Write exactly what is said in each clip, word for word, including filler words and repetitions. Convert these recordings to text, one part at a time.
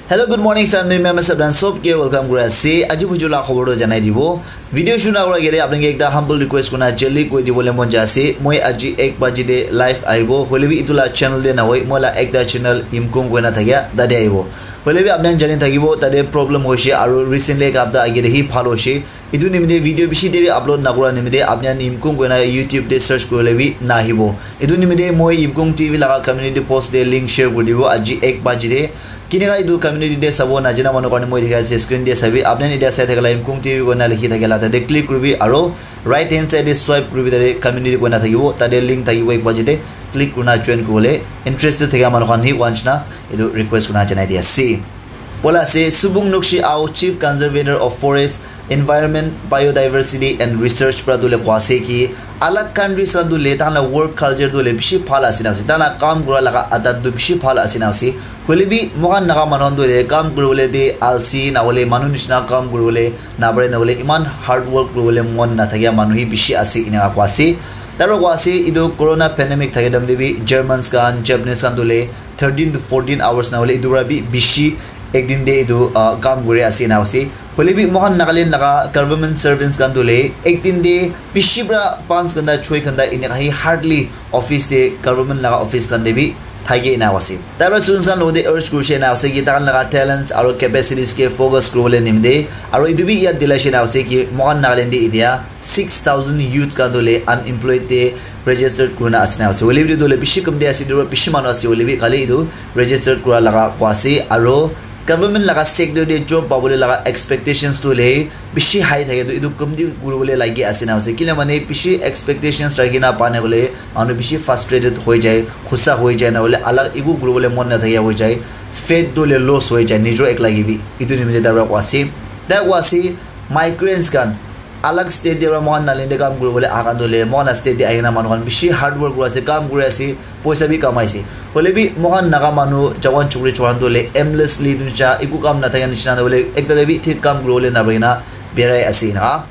Hello, good morning, family members. Apni sob ke welcome kuri ase. Aji buju la khobor to janai dibo. Video shuru na kura agete apni ke ekta humble request kurna jaldi koi dibole mon jai ase. Moi aji ek baji te live aibo. Hoile bi itu la channel te na hoi, moi la ekta channel Imkung koina thakia tate aibo. Hoile bi apni jani thakibo, tate problem hoise aru recently ek hapta agete hi bhal hoise. Itu nimite video bishi deri upload nakura nimite apni khan Imkung koina YouTube te search kurile bi nahibo. Itu nimite moi Imkung T V laga community post te link share kuri dibo aji ek baji te. Kineka itu community te sabo najana manu karne moi dikhai ase screen te sabi. Apni khan etia sai thakila Imkung T V koina likhi thakila tate click kuribi aro right hand side te swipe kuribi tate community koina thakibo. Tate link thakibo ek baji te click kurna join kuribole interested thakia manu khan hi once na itu request kurna janai di ase. Bola ase, Subung Nokshi Ao, Chief Conservator of Forest, Environment, Biodiversity and Research pra tu le koa ase ki, alag countries khan tu le tahan la work culture tu le bishi bhal ase na ase, tahan la kam kura laga adat tu bishi bhal ase na ase. Hoile bi moikhan Naga manu khan tu le kam kuribole de alsi na hole manu nishina kam kuribole na pare na hole iman hard work kuribole mon na thakia manu hi bishi ase ena koa ase. Taro koa ase, etu corona pandemic thake time de bi Germans khan, Japanese khan tu le thirteen to fourteen hours na hole etu para bi bishi ek din de etu ah, kam kuri ase ena ase. Hoile bi moikhan Nagaland laga government servants khan tu le ek din de bishi para panch ghanta, choi ghanta eneka hi hardly office de government laga office khan de bi thaki ena ase. Tai para students khan logote urge kurishe ena ase ki taikhan laga talents aro capacities ke focus kuribole nimite aro etu bi yad dilaishe ena ase ki moikhan Nagaland de etia six thousand youths khan tu le unemployed de registered kurina ase na ase. Hoile bi etu le bishi kam de ase, etu para bishi manu ase hoile bi khali etu registered kura laga koa ase aro government laga sector de job pabole laga expectations tu le bishi high thake tu etu kam de kuribole lagi ase na ase. Kile mane bishi expectations rakhi na pa na hole manu bishi frustrated hoi jai, khusa hoi jai na hole alag eku kuribole mon na thakia hoi jai, faith tu le loss hoi jai, nijor ek lagi bi. Etu nimite tai para koa ase. Tai koa ase, migrants khan alag state de para moikhan Nagaland de kam kuribole aha khan tu le moikhan la state de ahina manu khan bishi hard work kuri ase, kam kuri ase, poisa bi kamai ase. Hoile bi moikhan Naga manu jawan chukri chora tu le aimlessly tu cha eku kam na thaka nishina na hole ekta de bi thik kam kuribole na bhagina berai ase ena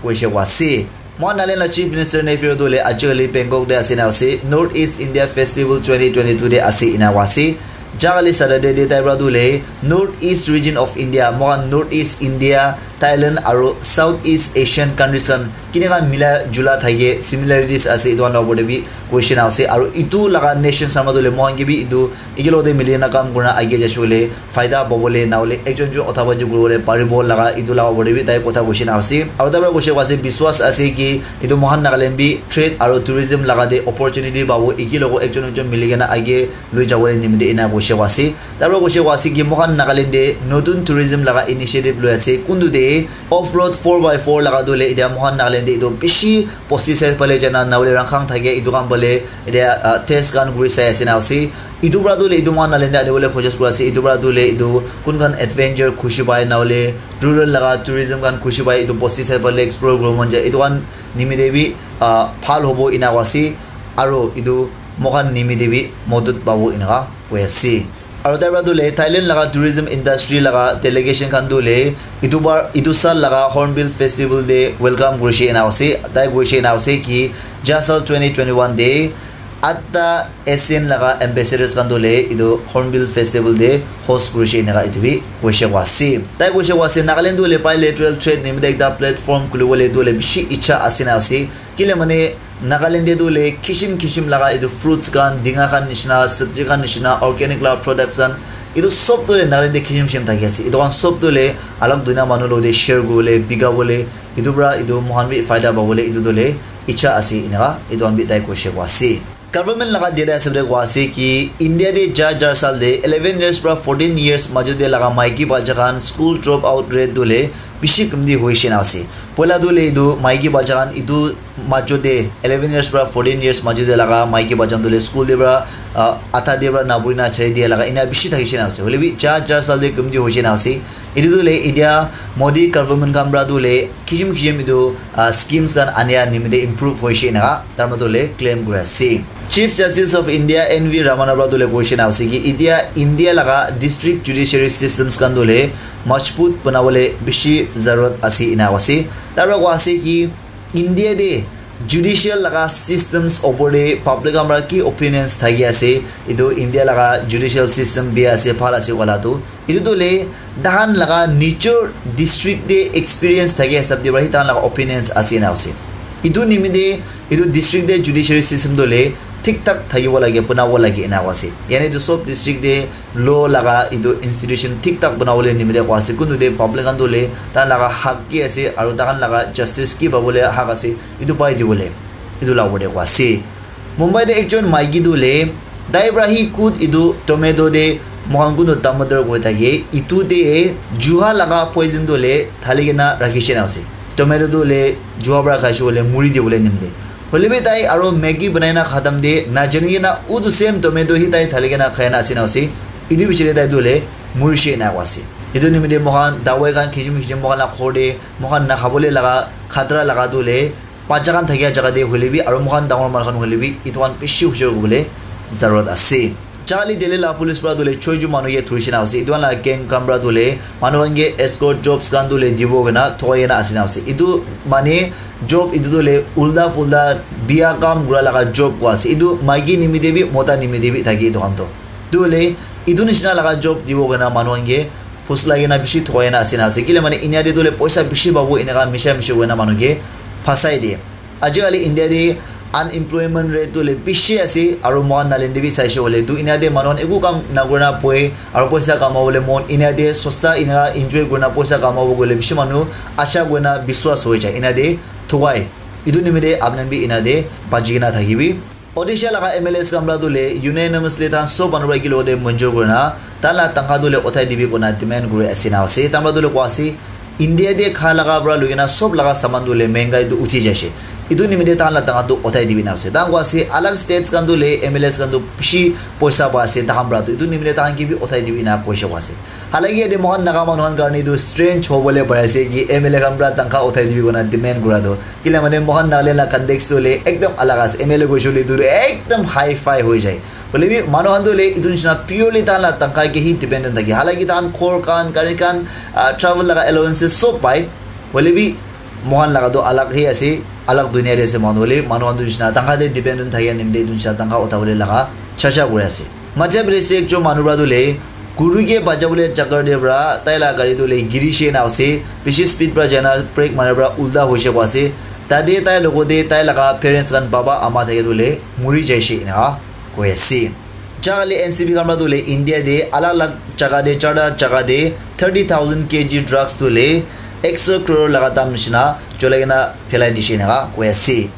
koishe koa ase. Moikhan Nagaland la Chief Minister Neiphiu Rio tu le ajikali Bangkok de ase ena ase, North East India Festival twenty twenty-two de ase ena koa ase. Jakali Saturday de tai para tu le North East region of India, moikhan North East India, Thailand aro South East Asian countries khan kineka mila jula thake, similarities ase, etu khan la opor de bi koishe na ase. Aro etu laga nation sama tu le moikhan ke bi etu eke logote mili na kam kurina age jaishe hoile faida pabole na hole ekjon ekjon utha baji kuribole paribo laga etu laga opor de bi tai kotha koishe na ase. Aro tai para koishe koa ase biswas ase ki etu moikhan Nagaland bi trade aro tourism laga de opportunity pabo, eke logo ekjon ekjon mili kena age loi jabole nimite ena koishe koa ase. Tai para koishe koa ase ki moikhan Nagaland de notun tourism laga initiative loi ase. Kuntu de off road four by four laga tu le etia moikhan Nagaland de etu bishi pesticide pale jana na hole rangkhang thake etu khan pale etia ah, test khan kuri sai ase na ase. Etu para tu le etu moikhan Nagaland de anibole koshish kuri ase. Etu para tu le etu kun khan adventure khushi pai na hole rural laga tourism khan khushi pai etu pesticide pale explore kuribo mon jai. Etu khan nimite bi ah, bhal hobo ena koa ase. Aro etu moikhan nimite bi modot pabo eneka koi ase. Aro tai para tu le Thailand laga tourism industry laga delegation khan tu le etu bar etu sal laga Hornbill Festival de welcome kurishe ena ase. Tai koishe ena ase ki ja sal twenty twenty-one de atta ASEAN laga ambassadors khan tu le etu Hornbill Festival de host kurishe eneka etu bi koishe koa ase. Tai koishe koa ase Nagaland tu le bilateral trade nimite ekta platform khulibole tu le bishi icha ase na ase. Kile mane Nagaland de tu le kishim kishim laga etu fruits khan, dinga khan nishina, sabji khan nishina, organic laga products khan, etu sob tu le Nagaland de kishim kishim thaki ase. Etu khan sob tu le alag dunia manu logote share kuribole, bika bole, etu para etu moikhan bi faida pabole etu tu le icha ase eneka etu khan bi tai koishe koa ase. Government laga data hisab de koa ase ki India de ja jar sal de eleven years para fourteen years majo de laga maiki bacha khan school drop out rate tu le bishi kamti hoishe na ase. Poila tu le etu maiki bacha khan etu majo de eleven years para fourteen years majo de laga maiki bacha khan tu le school de para ah, atha de para na puri na chari dia laga ena bishi thakishe na ase. Hoile bi ja jar sal de kamti hoishe na ase. Etu tu le etia Modi government khan para tu le kishim kishim etu ah, schemes khan ania nimite improve hoishe eneka tai para tu le claim kuri ase. Chief Justice of India N V Ramana para tu le koishe na ase ki etia India laga district judiciary systems khan tu le majbut banabole bishi zarurat ase ena koa ase. Tai para koa ase ki India de judicial laga systems opor de public khan para ki opinions thaki ase, etu India laga judicial system bia ase, bhal ase koa la tu Etu tu le tahan laga nijor district te experience thake hisab te para hi tahan laga opinions ase na ase. Etu nimite etu district te judiciary system tu le thik thak thakibo lage, banabo lage ena koa ase. Yate tu sob district te law laga etu institution thik thak banabole nimite koa ase. Kuntu te public khan tu le tahan laga hak ki ase aru tahan laga justice ki pabole hak ase, etu pai dibole, etu la opor te koa ase. Mumbai te ekjon maiki tu le tai para hi kut etu tomato te moikhan kuntu tomato koi thake, etu te juha laga poison tu le thali kena rakhi shena ase. Tomato tu le juha para khai shey koile muri dibole nimite. Hoile bi tai aro Maggi banai na khatam te najani kena utu same tomato hi tai thali kena khai na ase na ase. Etu bichare tai tu le muri shey na ase. Etu nimite moikhan dawai khan kichim kichim moikhan la ghor te moikhan na khabole laga khatra laga tu le bacha khan thakia jaga te hoile bi aro moikhan dangor manu khan hoile bi etu khan bishi hushiar kuribole zarurat ase. Charli Delhi la police para tu le choi ju manu ke thuri shina ase. Etu khan la gang khan para tu le manu khan ke escort jobs khan tu le dibo kena thoi kena ase na ase. Etu mane job etu tu le ulta fulta biya kam kura laga job koa ase. Etu maiki nimite bi mota nimite bi thake etu khan tu. Tu le etu nishina laga job dibo kena manu khan ke phusla kena bishi thoi kena ase na ase. Kile mane India te tu le poisa bishi pabo eneka misha mishi koi na manu ke phasai de. Ajikali India te unemployment rate tu le bishi ase, aru moikhan Nagaland te bi saishe koile tu India te manu khan eku kam nakurina bohe aru poisa kamabole mon India te sosta eneka enjoy kurina poisa kamabo koile bishi manu asha kurina biswas hoi jai India te thukai. Etu nimite apni khan bi India te bachi kena thakibi. Odisha laga M L As khan para tu le unanimously tahan sob manu para ekelogte manjur kurina tahan la tangka tu le uthai dibi kurina demand kuri ase na ase. Tahan para tu le koa ase, India te kha laga para loi kena sob laga saman tu le mengai tu uthi jaise. Etu nimite tahan la tangka tu uthai dibi na ase. Tahan koa ase, alag states khan tu le M L As khan tu bishi poisa pa ase tahan para tu. Etu nimite tahan ke bi uthai dibi na koise koa ase. Halaki yate moikhan Naga manu khan karne etu strange hobole pari ase ki M L A khan para tangka uthai dibi kurina demand kura tu. Kile mane moikhan Nagaland la context tu hoile ekdam alag ase. M L A koise koile etu tu ekdam high fi hoi jai. Hoile bi manu khan tu hoile etu nishina purely tahan la tangka ke hi dependent thake. Halaki tahan ghor khan, gari khan, ah, travel laga allowances sob pai. Hoile bi moikhan laga tu alag hi ase, alag dunia te ase manu hoile, manu khan tu nishina tangka te dependent thake nimite etu nishina tangka uthabole laga chacha kuri ase. Madhya Pradesh te ekjon manu para tu le guru ke bachabole chakar te para tai la gari tu le giri she na ase, bishi speed para jai na brake mara para ulta hoise koa ase. Tate tai logote tai laga parents khan baba ama thake tu le muri jaise eneka koi ase. Jaga le N C B khan para tu le India te alag alag jaga te charta jaga te thirty thousand K G drugs tu le ekso crore laga dam nishina cholai kena phelai dishe eneka koi ase.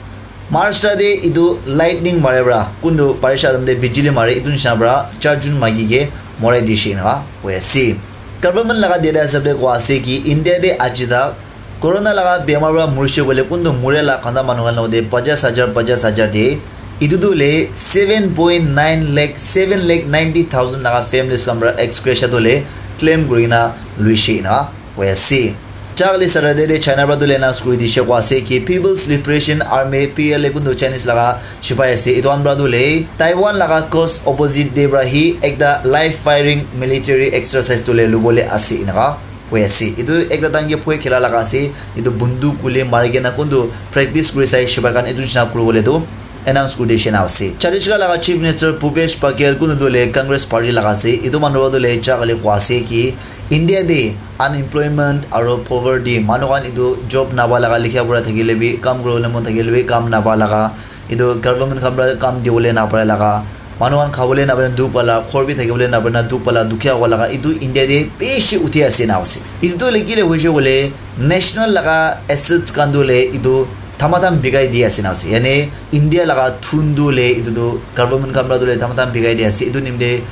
Maharashtra te etu lightning mare para kuntu barisha time te bijili mare etu nishina para char jon maiki ke morai dishe eneka koi ase. Government laga data hisab te koa ase ki India te aji tak corona laga bemar para murishe koile kuntu mure la khanda manu khan logote pajas hajar, pajas hajar de. Etu tu hoile seven point nine lakh, seven lakh ninety thousand laga families khan para ex gratia tu hoile claim kuri kena luishe eneka koi ase. Chakali Saturday te China para tu le announce kuri dishe koa ase ki People's Liberation Army, P L A, kuntu Chinese laga sipai ase. Etu khan para tu le Taiwan laga coast opposite te para hi ekta live firing military exercise tu le lubole ase eneka koi ase. Etu ekta tahan ke phoi khela laga ase. Etu bunduk kule mari kena kuntu practice kuri sai sipai khan etu nishina kuri bole tu announce kuri dishe na ase. Chhattisgarh laga Chief Minister Bhupesh Baghel kuntu tu le Congress party laga ase. Etu manu para tu le jaga le koa ase ki India te unemployment aru poverty manu khan etu job napa laga likha pura thakile bi kam kuribole mon thakile bi kam napa laga etu government khan para kam dibole napare laga manu khan khabole napare dukh pala ghor bi thakibole napare dukh pala dukhia howa laga etu India te bishi uthi ase na ase. Etu tu hoile kile hoise koile national laga assets khan tu hoile etu thamatham bikai di ase na ase. Yane India laga thun tu hoile etu tu government khan para tu hoile thamatham bikai di ase. Etu nimite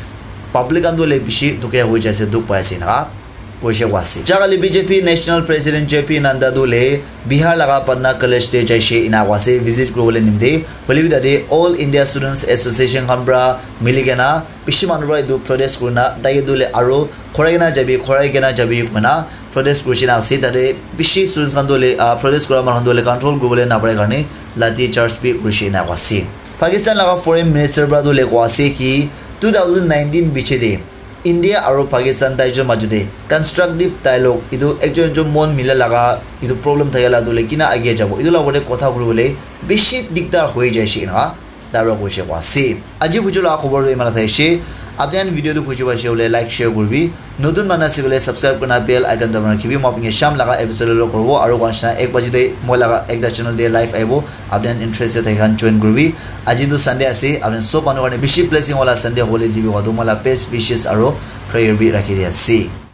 public khan tu hoile bishi dukhia hoi jai ase, dukh pai ase na koise koa ase. Jaga le B J P National President J P Nadda tu hoile Bihar laga Patna College te jaise ena koa ase visit kuribole nimite. Hoile bi tate All India Students Association khan para mili kena bishi manu para etu protest kurina tai ke tu hoile aru khorai kena jabi, khorai kena jabi koina protest kurishe na ase. Tate bishi students khan tu hoile, ah, protest kura manu khan tu hoile control kuribole napare karne lathi charge bi kurishe na ase. Pakistan laga foreign minister para tu hoile koa ase ki two thousand nineteen piche te India aru Pakistan tai jon majo te constructive dialogue etu ekjon ekjon mon mila laga etu problem thakya la tu hoile kina age jabo etu la opor te kotha kuribole bishi dikdar hoi jaise eneka daro koise koa ase. Aji bujo laga khobor tu imana thaishe. Apni khan video tu khushi paise hoile like share kuribi. Notun manu ase koile subscribe kurina bell icon dabai rakhibi. Moi apni ke sham laga episode lo koribo. Aru koina ek baji te moi laga ekta channel te live aibo. Apni khan interested thaki khan join kuribi. Aji tu Sunday ase. Apni khan sob manu karne bishi blessing wala Sunday hobole dibi koa tu moi la best wishes aru prayer bi rakhi di ase.